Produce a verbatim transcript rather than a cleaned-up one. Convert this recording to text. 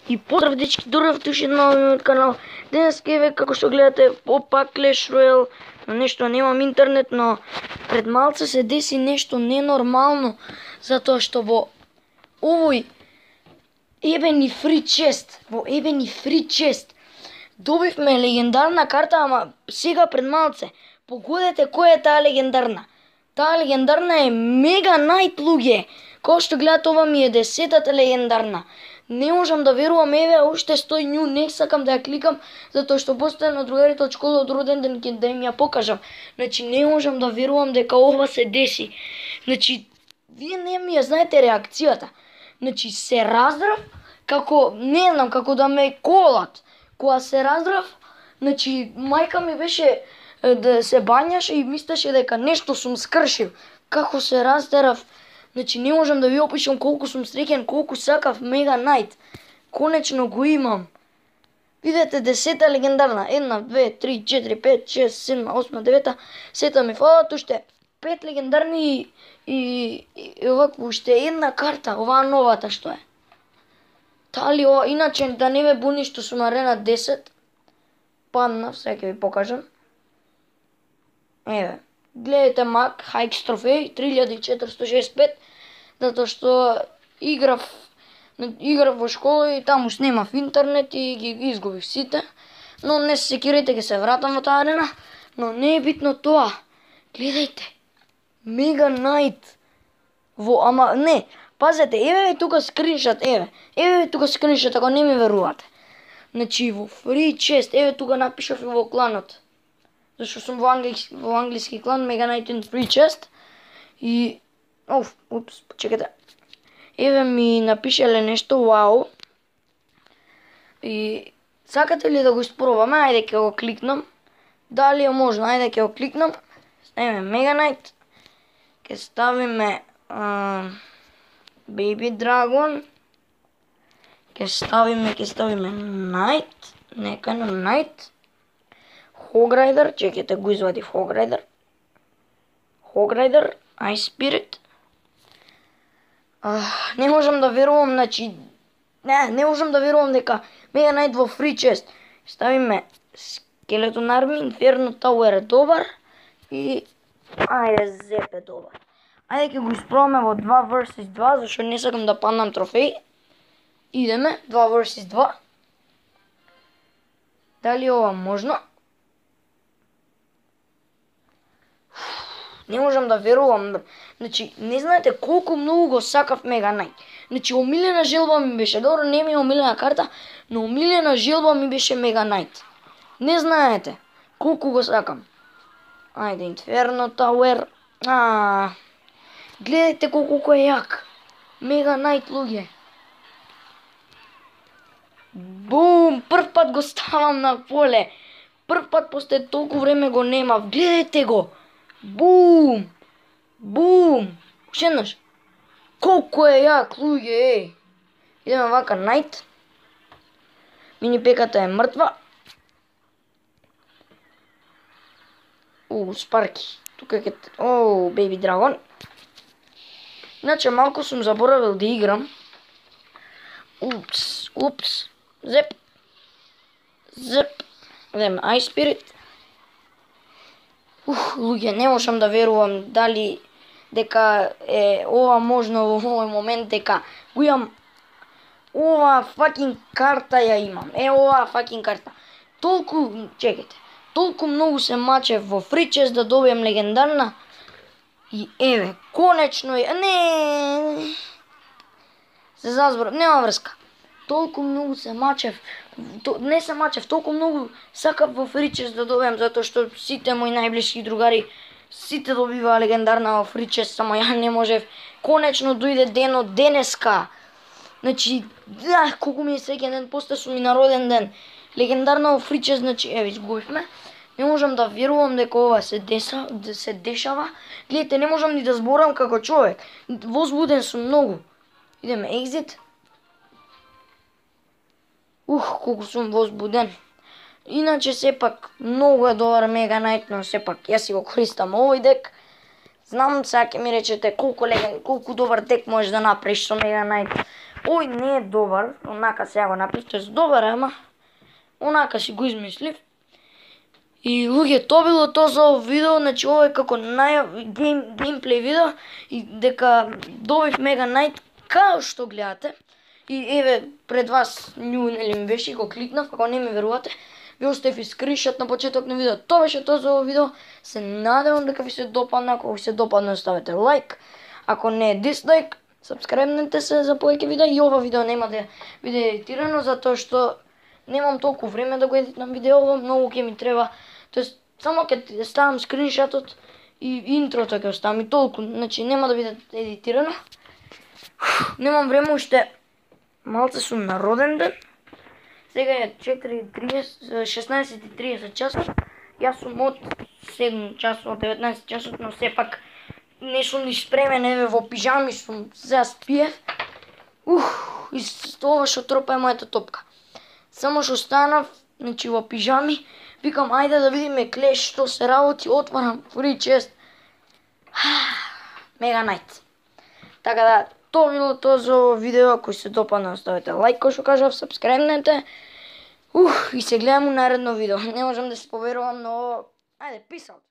И поздрав дечки, добро дошли на новиот канал. Денес еве како што гледате опак Clash Royale, но нешто немам интернет, но пред малце се деси нешто ненормално, затоа што во овој ебени фри чест, во ебени фри чест добивме легендарна карта, ама сега пред малце. Погодете која е таа легендарна. Таа легендарна е Мега Најт, луѓе. Кој што гледате, ова ми е десетата легендарна. Не можам да верувам, еве уште стои нju, не сакам да ја кликам, затоа што постојано другарите од школа од роден ден ќе да им ја покажам. Значи не можам да верувам дека ова се деси. Значи вие не ми ја знаете реакцијата. Значи се раздрав како не знам, како да ме колат. Кога се раздрав, значи мајка ми беше да се бањаше и мислеше дека нешто сум скршил. Како се раздерав. Значи не можам да ви опишам колку сум среќен, колку сакав Мега Најт. Конечно го имам. Видете десета легендарна. Една, две, три, четири, пет, шест, седма, осма, девета. Сета ми фалат уште пет легендарни и, и, и овакво уште една карта, оваа новата што е. Тали ова, иначе да не ме буни што сум арена десет. Паднав, сега ќе ви покажам. Еве. Гледате Мак, Хайкс трофеј, три илјади четиристотини шеесет и пет, затоа што играв, играв во школа и таму снимав интернет и ги изгубив сите. Но не се секирайте, ќе се вратам во таа арена, но не е битно тоа. Гледајте, Мега Најт. Во, ама не, пазете, еве тука скриншот, еве. Еве тука скриншот, ако не ми верувате. Значи во фри чест, еве тука напишав и во кланот. Зашто сум во англиски, во англиски клан, Мега Најт in Free Chest. И... Оф, упс, чекайте. Еве ми напишеле нешто, вау. И... Сакате ли да го испробаме? Ајде ќе го кликнам. Дали е можно? Ајде ќе го кликнам. Еве Мега Најт. Ќе ставиме... Uh, Baby Dragon. Ќе ставиме, ќе ставиме Најт. Нека на Најт. Hograider, чекайте, го извадив Hograider. Hograider, Ice Spirit. Uh, не можам да верувам, значи... Не, не можам да верувам дека Мега Најт во Free Chest. Ставиме Skeleton Army, Inferno Tower е добар. И... Ајде, Зеп е добар. Ајде ќе го испробаме во два versus два, зашто не сакам да паднам трофеј. Идеме, два versus два. Дали ова можно? Не можам да верувам. Значи, не знаете колку многу го сакав Мега Најт. Значи, омилена желба ми беше. Добро, не ми е омилена карта, но омилена желба ми беше Мега Најт. Не знаете колку го сакам. Ајде, Inferno Tower. А, гледајте колку е јак. Мега Најт, луѓе. Бум! Прв пат го ставам на поле. Прв пат после толку време го немав. Гледајте го. Бум! Бум! Уште еднаш. Колку е јак, луѓе, еј. Идеме вака, Најт. Мини пеката е мртва. У, Спарки. Тука е... О, Baby Dragon. Иначе малку сум заборавил да играм. Упс, упс. Зеп. Зеп. Идеме, Ice Spirit. Ух, луѓе, не можам да верувам дали дека е ова можно во овој момент, дека го имам ова факин карта ја имам. Е, ова факин карта. Толку, чекайте, толку многу се мачев во Free Chest да добијам легендарна. И еве, конечно е, не, се зазборав, нема врска. Толку многу се мачев, не се мачев, толку многу сакав во Free Chest да добијам, затоа што сите мои најблиски другари, сите добиваа легендарна во Free Chest, само ја не можев. Конечно дојде денот денеска. Значи, да, колку ми е среќен ден, после сум и на роден ден. Легендарна во Free Chest, значи, еве, изгубивме. Не можам да верувам дека ова се деса, да се дешава. Гледате, не можам ни да зборам како човек. Возбуден сум многу. Идеме exit. Ух, колку сум возбуден. Иначе сепак многу е добар Мега Најт, но сепак јас си го користам овој дек. Знам, сега ќе ми речете колку леген, колку добар дек можеш да направиш со Мега Најт. Ој не е добар, онака сега го направив, тоест добар, ама онака си го измислив. И луѓе, тоа било тоа за ово видео, значи ова е како нај гейм, геймплей видео и дека добив Мега Најт, као што гледате. И еве пред вас нju нели ми беше и го кликнав, ако не ми верувате, ви оставив и скриншот на почеток на видео. Тоа беше тоа за ово видео. Се надевам дека ви се допадна, ако ви се допадна ставете лайк, ако не е дислайк, сабскрайбнете се за повеќе видеа и ова видео нема да биде едитирано затоа што немам толку време да го едитнам видео, многу ќе ми треба. Тоест само ќе ставам скриншотот и интрото ќе оставам и толку, значи нема да биде едитирано. Немам време уште. Малце сум на роден ден. Сега е шеснаесет и тридесет часот. Јас сум од седум часот, деветнаесет часот, но сепак не сум ни спремен, еве во пижами сум, сега спиев. Ух, и ова што тропа е мојата топка. Само што станав, значи во пижами, викам ајде да видиме Клеш што се работи, отварам фри чест. Мега Најт. Така да, тоа било тоа за ово видео, ако се допадна оставете лайк, кој што кажав, сабскрайбнете. Ух, и се гледам у наредно видео. Не можам да се поверувам, но ајде, peace out.